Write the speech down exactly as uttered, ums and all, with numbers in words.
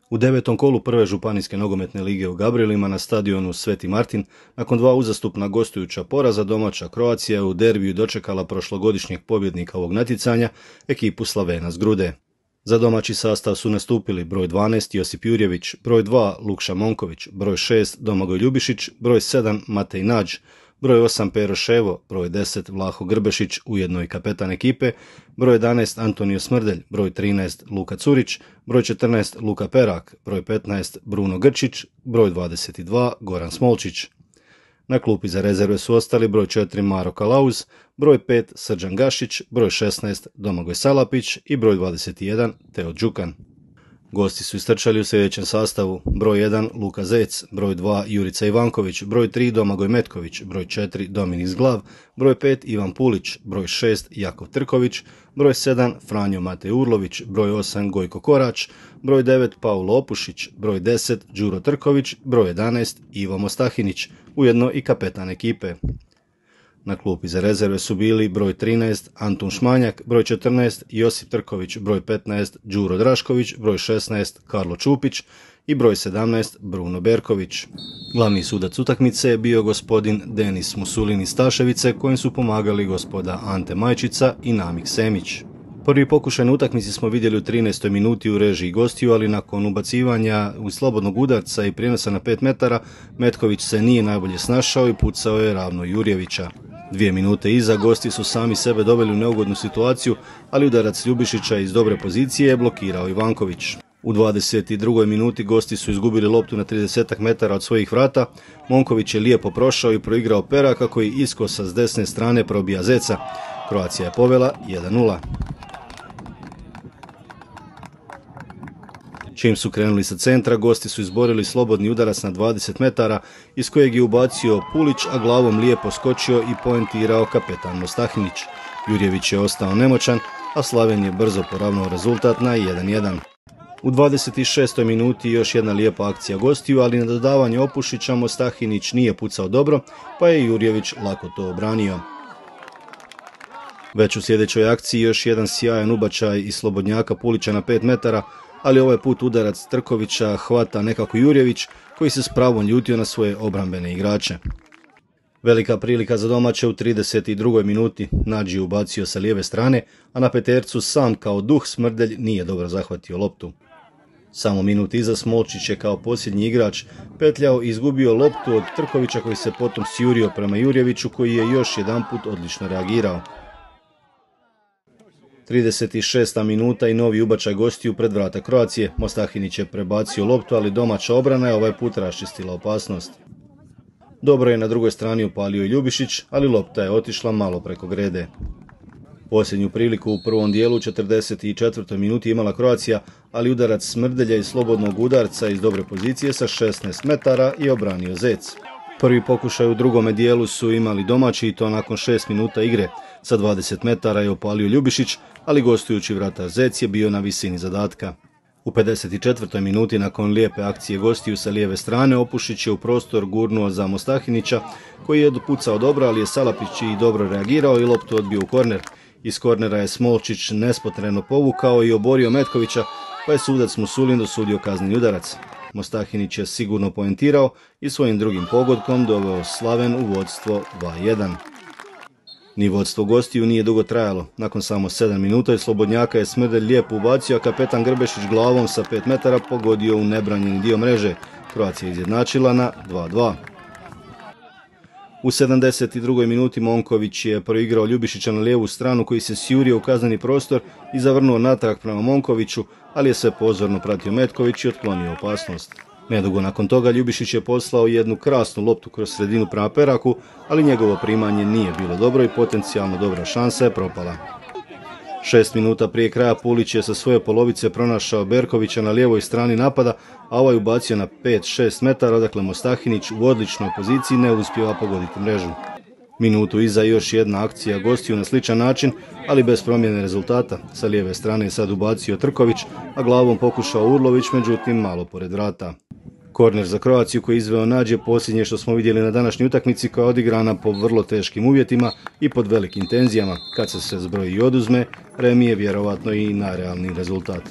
U devetom kolu prve županijske nogometne lige u Gabrilima na stadionu Sveti Martin, nakon dva uzastupna gostujuća poraza, domaća Croatia u derbiju dočekala prošlogodišnjeg pobjednika ovog natjecanja, ekipu Slavena z Grude. Za domaći sastav su nastupili broj dvanaest Josip Jurjević, broj dva Lukša Monković, broj šest Domagoj Ljubišić, broj sedam Matej Nađ, broj osam Pero Ševo, broj deset Vlaho Grbešić, ujedno i kapetan ekipe, broj jedanaest Antonio Smrdelj, broj trinaest Luka Curić, broj četrnaest Luka Perak, broj petnaest Bruno Grčić, broj dvadeset dva Goran Smolčić. Na klupi za rezerve su ostali broj četiri Maro Kalauz, broj pet Srđan Gašić, broj šesnaest Domagoj Salapić i broj dvadeset jedan Teo Đukan. Gosti su istrčali u sljedećem sastavu: broj jedan Luka Zec, broj dva Jurica Ivanković, broj tri Domagoj Metković, broj četiri Dominik Zglav, broj pet Ivan Pulić, broj šest Jakov Trković, broj sedam Franjo Matej Urlović, broj osam Gojko Korać, broj devet Paulo Opušić, broj deset Đuro Trković, broj jedanaest Ivo Mostahinić, ujedno i kapetan ekipe. Na klupi za rezerve su bili broj trinaest Antun Šmanjak, broj četrnaest Josip Trković, broj petnaest Đuro Drašković, broj šesnaest Karlo Čupić i broj sedamnaest Bruno Berković. Glavni sudac utakmice je bio gospodin Denis Musulin iz Staševice, kojim su pomagali gospoda Ante Majčica i Namik Semić. Prvi pokušaj na utakmici smo vidjeli u trinaestoj minuti u režiji gostiju, ali nakon ubacivanja u slobodnog udarca i prijenosa na pet metara, Metković se nije najbolje snašao i pucao je ravno Jurjevića. Dvije minute iza gosti su sami sebe doveli u neugodnu situaciju, ali udarac Ljubišića iz dobre pozicije je blokirao Ivanković. U dvadeset drugoj minuti gosti su izgubili loptu na trideset metara od svojih vrata. Monković je lijepo prošao i proigrao Peraka koji iskosa s desne strane probija Zeca. Croatia je povela jedan nula. Čim su krenuli sa centra, gosti su izborili slobodni udarac na dvadeset metara, iz kojeg je ubacio Pulić, a glavom lijepo skočio i poentirao kapetan Mostahinić. Jurjević je ostao nemoćan, a Slaven je brzo poravnao rezultat na jedan jedan. U dvadeset šestoj minuti još jedna lijepa akcija gostiju, ali na dodavanje Opušića Mostahinić nije pucao dobro, pa je Jurjević lako to obranio. Već u sljedećoj akciji još jedan sjajan ubačaj iz slobodnjaka Pulića na pet metara, ali ovaj put udarac Trkovića hvata nekako Jurjević, koji se s pravom ljutio na svoje obrambene igrače. Velika prilika za domaće u trideset drugoj minuti. Nađ je ubacio sa lijeve strane, a na petercu sam kao duh Smrdelj nije dobro zahvatio loptu. Samo minut iza Smolčić je kao posljednji igrač petljao i izgubio loptu od Trkovića, koji se potom sjurio prema Jurjeviću, koji je još jedanput odlično reagirao. trideset šesta minuta i novi ubačaj gostiju pred vrata Croacije. Mostahinić je prebacio loptu, ali domaća obrana je ovaj put raščistila opasnost. Dobro je na drugoj strani upalio i Ljubišić, ali lopta je otišla malo preko grede. Posljednju priliku u prvom dijelu u četrdeset četvrtoj minuti imala Croatia, ali udarac Smrdelja iz slobodnog udarca iz dobre pozicije sa šesnaest metara je obranio Zec. Prvi pokušaj u drugome dijelu su imali domaći, i to nakon šest minuta igre. Sa dvadeset metara je opalio Ljubišić, ali gostujući vratar Zec je bio na visini zadatka. U pedeset četvrtoj minuti nakon lijepe akcije gostiju sa lijeve strane, Opušić je u prostor gurnuo za Mostahinića, koji je dopucao dobro, ali je Salapić i dobro reagirao i loptu odbio u korner. Iz kornera je Smolčić nespotreno povukao i oborio Metkovića, pa je sudac Musulin dosudio kazneni udarac. Mostahinić je sigurno poentirao i svojim drugim pogodkom doveo Slaven u vodstvo dva jedan. Ni vodstvo gostiju nije dugo trajalo. Nakon samo sedam minuta iz slobodnjaka je Smrdelj lijepo ubacio, a kapetan Grbešić glavom sa pet metara pogodio u nebranjeni dio mreže. Croatia je izjednačila na dva dva. U sedamdeset drugoj minuti Monković je proigrao Ljubišića na lijevu stranu, koji se sjurio u kazneni prostor i zavrnuo natrag prema Monkoviću, ali je sve pozorno pratio Metković i otklonio opasnost. Nedugo nakon toga Ljubišić je poslao jednu krasnu loptu kroz sredinu prema Peraku, ali njegovo primanje nije bilo dobro i potencijalno dobra šansa je propala. Šest minuta prije kraja Pulić je sa svoje polovice pronašao Berkovića na lijevoj strani napada, a ovaj ubacio na pet šest metara, odakle Mostahinić u odličnoj poziciji ne uspijeva pogoditi mrežu. Minutu iza još jedna akcija gostiju na sličan način, ali bez promjene rezultata. Sa lijeve strane je sad ubacio Trković, a glavom pokušao Urlović, međutim malo pored vrata. Korner za Croaciju koji je izveo Nađ je posljednje što smo vidjeli na današnjoj utakmici, koja je odigrana po vrlo teškim uvjetima i pod velikim tenzijama. Kad se sve zbroji i oduzme, remi je vjerovatno i najrealniji rezultat.